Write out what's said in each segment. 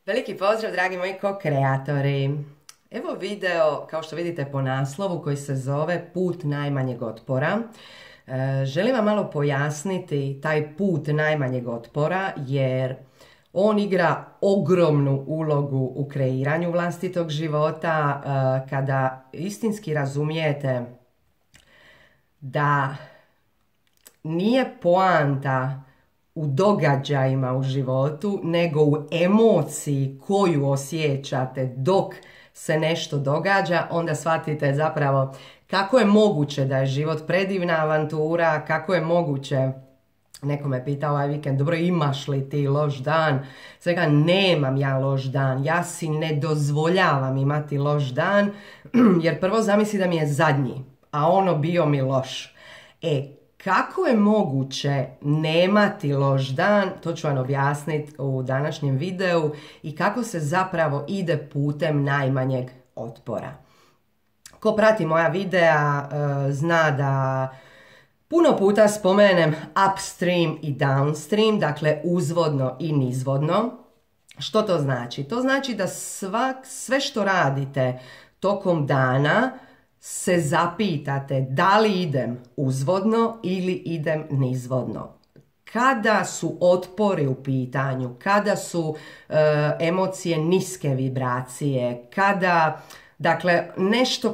Veliki pozdrav, dragi moji ko-kreatori. Evo video, kao što vidite po naslovu, koji se zove Put najmanjeg otpora. Želim vam malo pojasniti taj put najmanjeg otpora, jer on igra ogromnu ulogu u kreiranju vlastitog života. Kada istinski razumijete da nije poanta u događajima u životu, nego u emociji koju osjećate dok se nešto događa, onda shvatite zapravo kako je moguće da je život predivna avantura, kako je moguće. Neko me pita ovaj vikend, dobro, imaš li ti loš dan? Svega, nemam ja loš dan, ja si ne dozvoljavam imati loš dan, jer prvo zamisli da mi je zadnji, a ono bio mi loš. Kako je moguće nemati loš dan, to ću vam objasniti u današnjem videu, i kako se zapravo ide putem najmanjeg otpora. Ko prati moja videa zna da puno puta spomenem upstream i downstream, dakle uzvodno i nizvodno. Što to znači? To znači da sve što radite tokom dana se zapitate da li idem uzvodno ili idem nizvodno. Kada su otpori u pitanju, kada su emocije niske vibracije, kada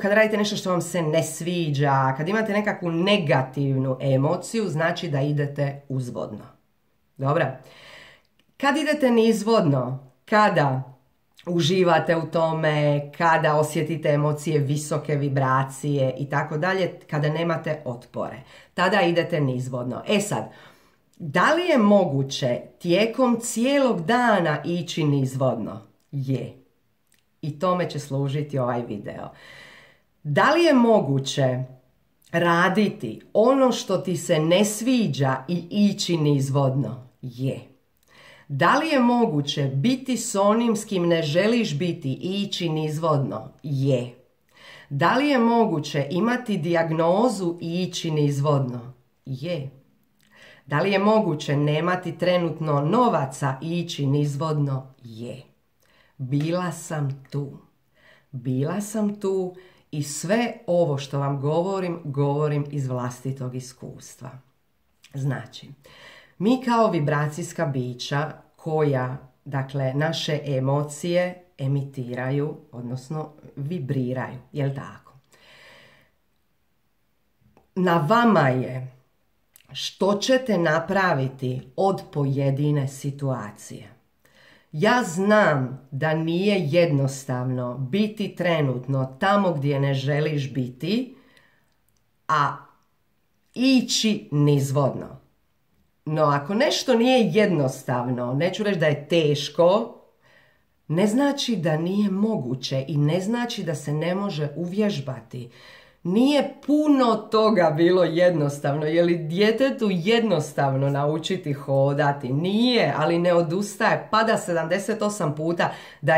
kada radite nešto što vam se ne sviđa, kad imate nekakvu negativnu emociju, znači da idete uzvodno. Dobro? Kad idete nizvodno, kada uživate u tome, kada osjetite emocije visoke vibracije i tako dalje, kada nemate otpore, tada idete nizvodno. Sad, da li je moguće tijekom cijelog dana ići nizvodno? Je. I tome će služiti ovaj video. Da li je moguće raditi ono što ti se ne sviđa i ići nizvodno? Je. Da li je moguće biti s onim s kim ne želiš biti i ići nizvodno? Je. Da li je moguće imati dijagnozu i ići nizvodno? Je. Da li je moguće nemati trenutno novaca i ići nizvodno? Je. Bila sam tu. Bila sam tu i sve ovo što vam govorim iz vlastitog iskustva. Znači, mi kao vibracijska bića koja, dakle, naše emocije emitiraju, odnosno vibriraju, jel tako? Na vama je što ćete napraviti od pojedine situacije. Ja znam da nije jednostavno biti trenutno tamo gdje ne želiš biti, a ići nizvodno. No, ako nešto nije jednostavno, neću reći da je teško, ne znači da nije moguće i ne znači da se ne može uvježbati. Nije puno toga bilo jednostavno. Je li djetetu jednostavno naučiti hodati? Nije, ali ne odustaje. Pada 78 puta, da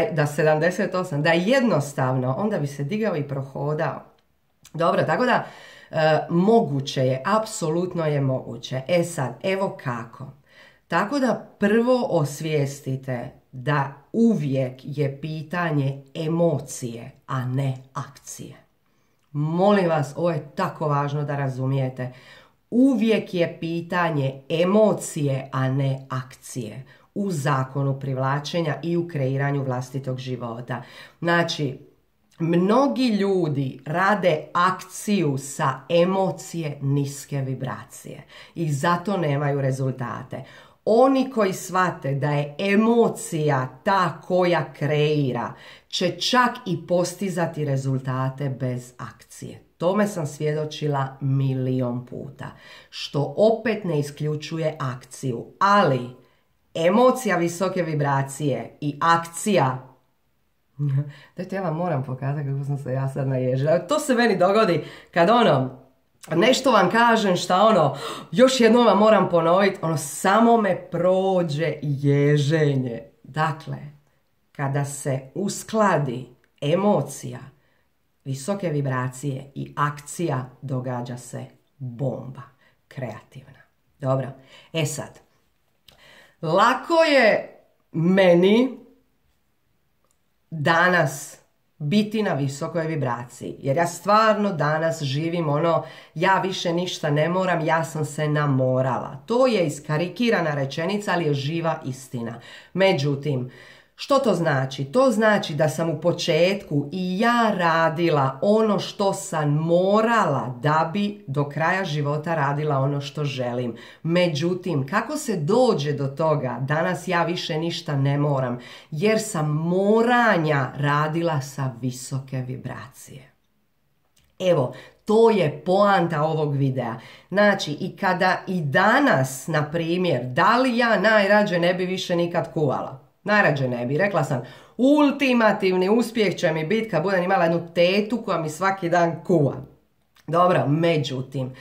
je jednostavno, onda bi se digao i prohodao. Dobro, tako da moguće je, apsolutno je moguće. Sad, evo kako. Tako da prvo osvijestite da uvijek je pitanje emocije, a ne akcije. Molim vas, ovo je tako važno da razumijete. Uvijek je pitanje emocije, a ne akcije. U zakonu privlačenja i u kreiranju vlastitog života. Znači, mnogi ljudi rade akciju sa emocije niske vibracije i zato nemaju rezultate. Oni koji shvate da je emocija ta koja kreira, će čak i postizati rezultate bez akcije. Tome sam svjedočila milion puta. Što opet ne isključuje akciju. Ali emocija visoke vibracije i akcija. Dajte, ja vam moram pokazati kako sam se ja sad naježila. To se meni dogodi kad nešto vam kažem šta još jednom vam moram ponoviti, samo me prođe ježenje. Dakle, kada se uskladi emocija, visoke vibracije i akcija, događa se bomba kreativna. Dobro, sad, lako je meni danas biti na visokoj vibraciji. Jer ja stvarno danas živim ono, ja više ništa ne moram, ja sam se namorala. To je iskarikirana rečenica, ali je živa istina. Međutim, što to znači? To znači da sam u početku i ja radila ono što sam morala da bi do kraja života radila ono što želim. Međutim, kako se dođe do toga, danas ja više ništa ne moram, jer sam moranja radila sa visoke vibracije. Evo, to je poanta ovog videa. Znači, i kada i danas, na primjer, da li ja najrađe ne bi više nikad kuvala? Najrađe ne bi. Rekla sam, ultimativni uspjeh će mi biti kad budem imala jednu tetu koja mi svaki dan kuva. Dobro, međutim,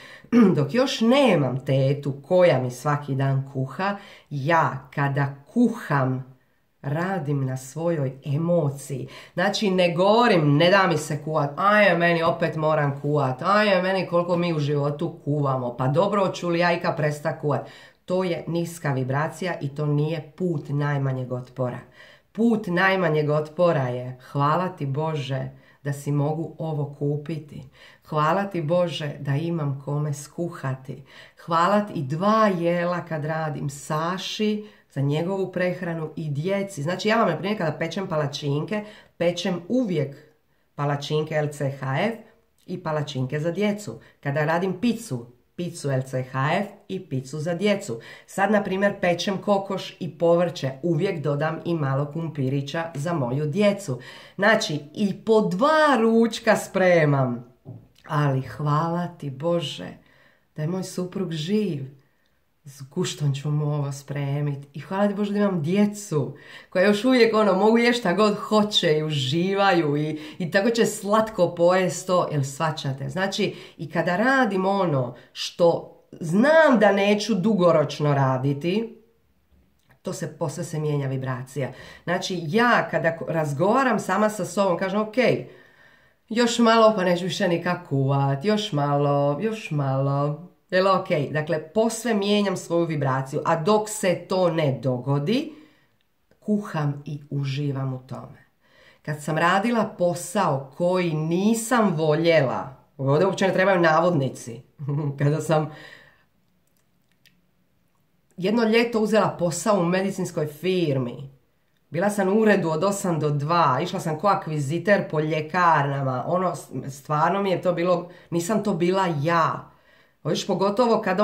dok još nemam tetu koja mi svaki dan kuha, ja kada kuham radim na svojoj emociji. Znači, ne govorim, ne da mi se kuvat, aj meni opet moram kuvat, aj meni koliko mi u životu kuvamo, pa dobro, ću li ja ikad presta kuvat. To je niska vibracija i to nije put najmanjeg otpora. Put najmanjeg otpora je hvala ti Bože da si mogu ovo kupiti. Hvala ti Bože da imam kome skuhati. Hvala ti i 2 jela kad radim Saši za njegovu prehranu i djeci. Znači ja vam na primjer kada pečem palačinke, pečem uvijek palačinke LCHF i palačinke za djecu. Kada radim picu LCHF i picu za djecu. Sad, na primjer, pečem kokoš i povrće. Uvijek dodam i malo kumpirića za moju djecu. Znači, i po 2 ručka spremam. Ali hvala ti Bože da je moj suprug živ. S guštom ću mu ovo spremiti. I hvala ti Bože da imam djecu koja još uvijek mogu jesti šta god hoće i uživaju i tako će slatko pojesti to, jel shvaćate? Znači, i kada radim ono što znam da neću dugoročno raditi, posve se mijenja vibracija. Znači, ja kada razgovaram sama sa sobom, kažem, ok, još malo pa neću više nikak kuvat, još malo. Jel ok? Dakle, posve mijenjam svoju vibraciju, a dok se to ne dogodi, kuham i uživam u tome. Kad sam radila posao koji nisam voljela, ovdje uopće ne trebaju navodnici, kada sam jedno ljeto uzela posao u medicinskoj firmi, bila sam u uredu od 8 do 2, išla sam ko akviziter po ljekarnama, stvarno mi je to bilo, nisam to bila ja. Viš, pogotovo kad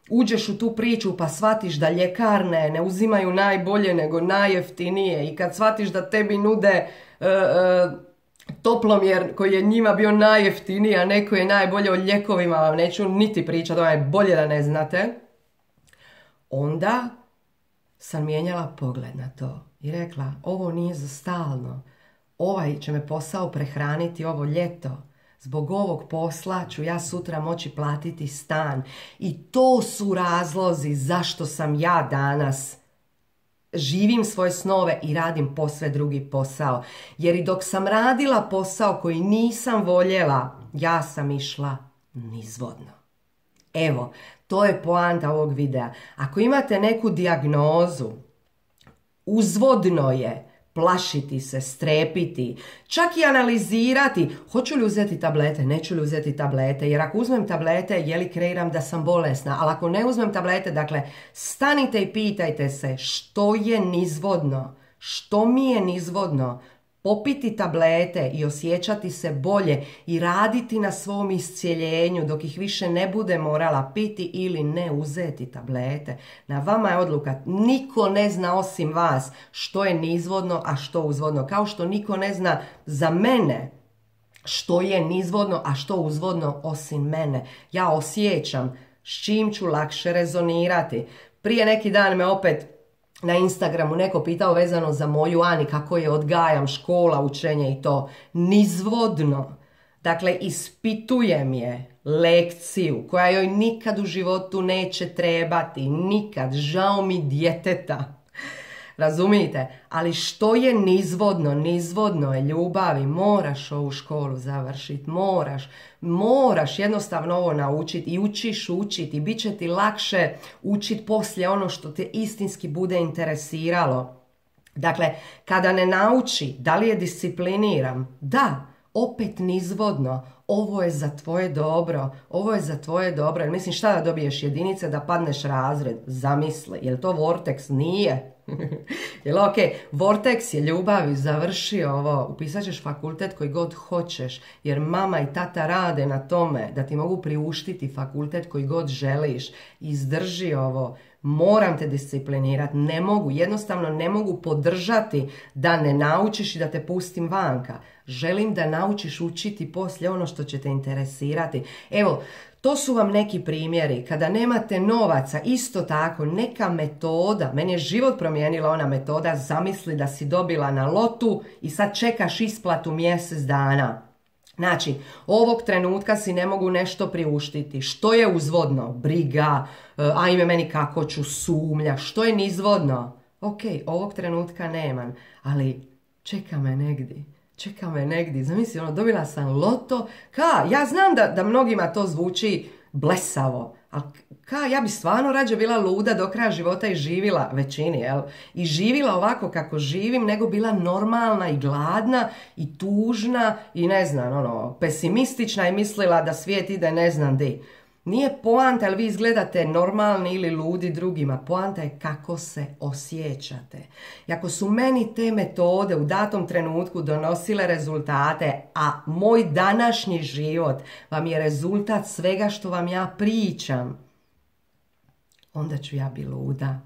uđeš u tu priču pa shvatiš da ljekarne ne uzimaju najbolje nego najjeftinije i kad shvatiš da tebi nude toplomjer koji je njima bio najjeftiniji, a neko je najbolje o ljekovima, vam neću niti pričati, je bolje da ne znate, onda sam mijenjala pogled na to i rekla, ovo nije za stalno, ovaj će me posao prehraniti ovo ljeto. Zbog ovog posla ću ja sutra moći platiti stan. I to su razlozi zašto sam ja danas živim svoje snove i radim posve drugi posao. Jer i dok sam radila posao koji nisam voljela, ja sam išla nizvodno. Evo, to je poanta ovog videa. Ako imate neku dijagnozu, uzvodno je plašiti se, strepiti, čak i analizirati hoću li uzeti tablete, neću li uzeti tablete, jer ako uzmem tablete, je li kreiram da sam bolesna, ali ako ne uzmem tablete, dakle, stanite i pitajte se što je nizvodno, što mi je nizvodno, popiti tablete i osjećati se bolje i raditi na svom iscijeljenju dok ih više ne bude morala piti ili ne uzeti tablete. Na vama je odluka. Niko ne zna osim vas što je nizvodno, a što uzvodno. Kao što niko ne zna za mene što je nizvodno, a što uzvodno osim mene. Ja osjećam s čim ću lakše rezonirati. Prije neki dan me opet na Instagramu neko pitao vezano za moju Ani, kako je odgajam, škola, učenje i to. Nizvodno. Dakle, ispitujem je lekciju koja joj nikad u životu neće trebati. Nikad. Žao mi djeteta. Razumijete? Ali što je nizvodno? Nizvodno je ljubavi. Moraš ovu školu završiti. Moraš jednostavno ovo naučiti i učiš učiti. Bit će ti lakše učiti poslije ono što te istinski bude interesiralo. Dakle, kada ne nauči, da li je discipliniran? Da, opet nizvodno. Ovo je za tvoje dobro, ovo je za tvoje dobro. Jer mislim, šta da dobiješ jedinice da padneš razred? Zamisli, je li to Vortex? Nije. Jel ok, Vortex je ljubav i završi ovo, upisat ćeš fakultet koji god hoćeš, jer mama i tata rade na tome da ti mogu priuštiti fakultet koji god želiš. Izdrži ovo, moram te disciplinirati, ne mogu, jednostavno ne mogu podržati da ne naučiš i da te pustim vanka. Želim da naučiš učiti poslije ono što će te interesirati. Evo, to su vam neki primjeri. Kada nemate novaca, isto tako, neka metoda. Meni je život promijenila ona metoda, zamisli da si dobila na lotu i sad čekaš isplatu mjesec dana. Znači, ovog trenutka si ne mogu nešto priuštiti. Što je uzvodno? Briga, ajme meni kako ću, sumnja. Što je nizvodno? Ok, ovog trenutka nemam, ali čeka me negdje. Čeka me negdje, zamisli, dobila sam loto, ja znam da mnogima to zvuči blesavo, ali ja bi stvarno rađe bila luda do kraja života i živila, većini, jel? I živila ovako kako živim, nego bila normalna i gladna i tužna i ne znam, pesimistična i mislila da svijet ide ne znam di. Nije poanta jel vi izgledate normalni ili ludi drugima, poanta je kako se osjećate. I ako su meni te metode u datom trenutku donosile rezultate, a moj današnji život vam je rezultat svega što vam ja pričam, onda ću ja biti luda,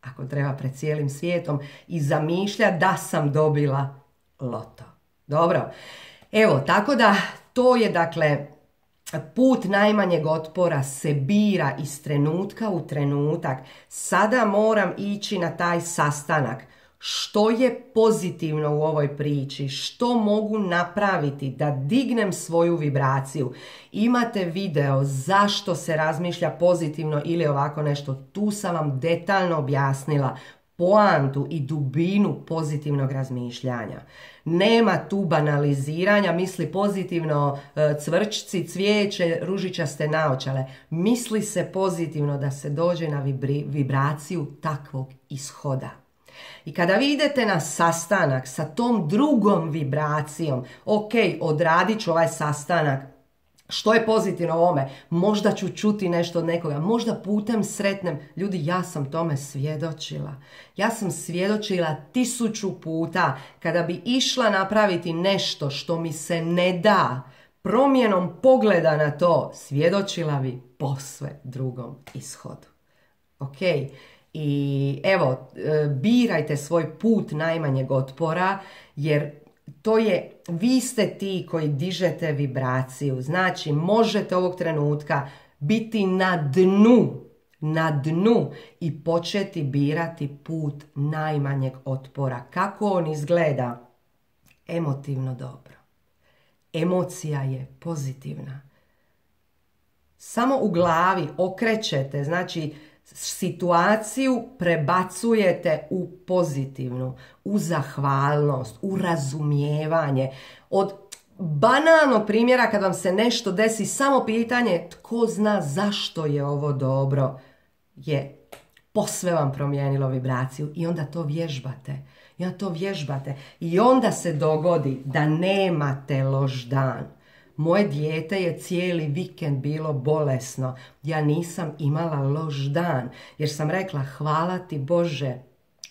ako treba pred cijelim svijetom, i zamišljati da sam dobila loto. Dobro, evo, tako da to je dakle... Put najmanjeg otpora se bira iz trenutka u trenutak. Sada moram ići na taj sastanak. Što je pozitivno u ovoj priči? Što mogu napraviti da dignem svoju vibraciju? Imate video zašto se razmišlja pozitivno ili ovako nešto. Tu sam vam detaljno objasnila poantu i dubinu pozitivnog razmišljanja. Nema tu banaliziranja, misli pozitivno, cvrčci, cvijeće, ružičaste naočale. Misli se pozitivno da se dođe na vibraciju takvog ishoda. I kada vi idete na sastanak sa tom drugom vibracijom, ok, odradit ću ovaj sastanak, što je pozitivno u ovome? Možda ću čuti nešto od nekoga, možda putem sretnem. Ljudi, ja sam tome svjedočila. Ja sam svjedočila 1000 puta kada bi išla napraviti nešto što mi se ne da, promjenom pogleda na to, svjedočila bi posve drugom ishodu. Ok? I evo, birajte svoj put najmanjeg otpora, jer to je, vi ste ti koji dižete vibraciju. Znači, možete ovog trenutka biti na dnu i početi birati put najmanjeg otpora. Kako on izgleda? Emotivno dobro. Emocija je pozitivna. Samo u glavi okrećete, znači situaciju prebacujete u pozitivnu, u zahvalnost, u razumijevanje. Od banalnog primjera kad vam se nešto desi, samo pitanje tko zna zašto je ovo dobro, je posve vam promijenilo vibraciju i onda to vježbate. I onda se dogodi da nemate loš dan. Moje dijete je cijeli vikend bilo bolesno. Ja nisam imala loš dan jer sam rekla hvala ti Bože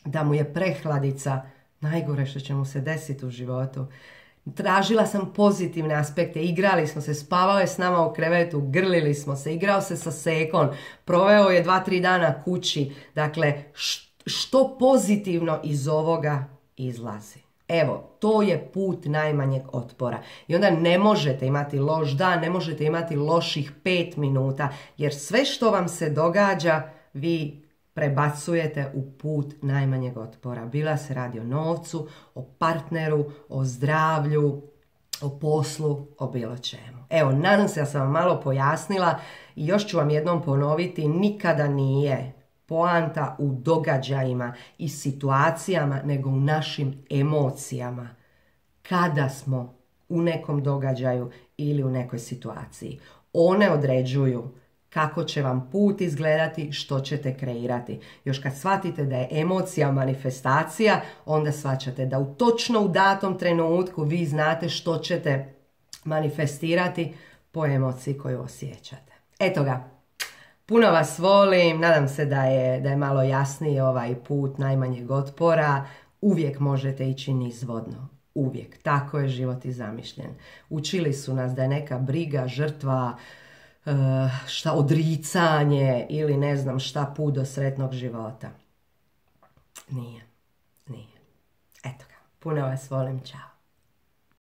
da mu je prehladica najgore što će mu se desiti u životu. Tražila sam pozitivne aspekte, igrali smo se, spavao je s nama u krevetu, grlili smo se, igrao se sa Sekom, proveo je 2-3 dana kući. Dakle, što pozitivno iz ovoga izlazi? Evo, to je put najmanjeg otpora. I onda ne možete imati loš dan, ne možete imati loših 5 minuta, jer sve što vam se događa, vi prebacujete u put najmanjeg otpora. Bila se radi o novcu, o partneru, o zdravlju, o poslu, o bilo čemu. Evo, nadam se da sam vam malo pojasnila i još ću vam jednom ponoviti, nikada nije poanta u događajima i situacijama, nego u našim emocijama. Kada smo u nekom događaju ili u nekoj situaciji. One određuju kako će vam put izgledati, što ćete kreirati. Još kad shvatite da je emocija manifestacija, onda shvaćate da točno u datom trenutku vi znate što ćete manifestirati po emociji koju osjećate. Eto ga, puno vas volim, nadam se da je malo jasniji ovaj put najmanjeg otpora. Uvijek možete ići nizvodno. Uvijek. Tako je život i zamišljen. Učili su nas da je neka briga, žrtva, odricanje ili ne znam šta put do sretnog života. Nije. Eto ga. Puno vas volim. Ćao.